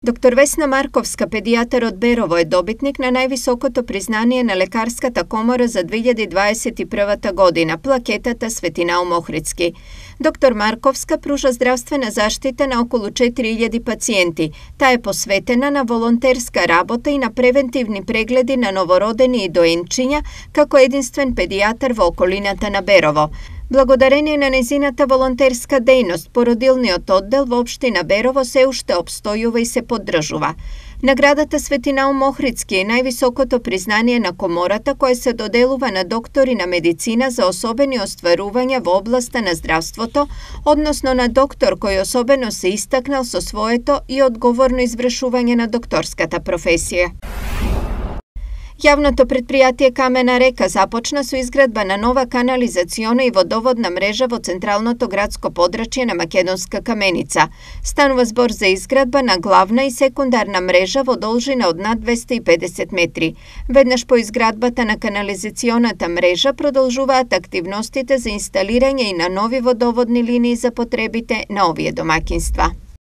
Доктор Весна Марковска, педијатар од Берово, е добитник на највисокото признание на Лекарската комора за 2021 година, плакетата Светинаум Охридски. Доктор Марковска пружа здравствена заштита на околу 4000 пациенти. Таа е посветена на волонтерска работа и на превентивни прегледи на новородени и доенчиња, како единствен педијатар во околината на Берово. Благодарение на незината волонтерска дејност, породилниот оддел во општина Берово се уште опстојува и се поддржува. Наградата Светинаум Охридски е највисокото признание на комората која се доделува на доктори на медицина за особени остварувања во областа на здравството, односно на доктор кој особено се истакнал со своето и одговорно извршување на докторската професија. Јавното претпријатие Камена река започна со изградба на нова канализациона и водоводна мрежа во централното градско подрачје на Македонска Каменица. Станува збор за изградба на главна и секундарна мрежа во должина од над 250 метри. Веднаш по изградбата на канализационата мрежа продолжуваат активностите за инсталирање и на нови водоводни линии за потребите на овие домаќинства.